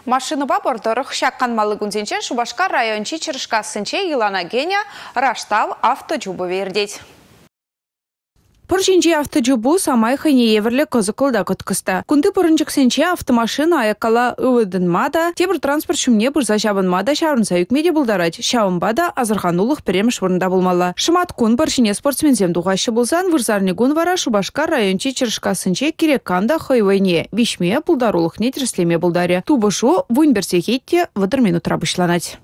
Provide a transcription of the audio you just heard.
Машинӑпа пӑр тӑрӑх ҫак канмалли кунсенче Шупашкар районӗнчи Чӑрӑшкассинче йӑлана кӗнӗ Раштав авточупӑвӗ иртет. Пӑр ҫинчи авточупу самай хӑйне евӗрлӗ кӑсӑклӑ та кӑткӑс та. Кунти пӑрӑнчӑксенче автомашина аяккалла ывӑтӑнма та, тепӗр транспорт ҫумне пырса ҫапӑнма та, ҫаврӑнса ӳкме те пултарать. Ҫавӑнпа та асӑрханулӑх пӗрремӗш вырӑнта пулмалла. Шӑмат кун пӑр ҫине спортсменсем тухаҫҫӗ пулсан, вырсарни кун вара Шупашкар районӗнчи Чӑрӑшкассинче кирек кам та хӑй вӑйне виҫме, пултарулӑхне тӗрӗслеме пултарӗ. Тупӑшу 11 сехет те 30 минутра пуҫланать.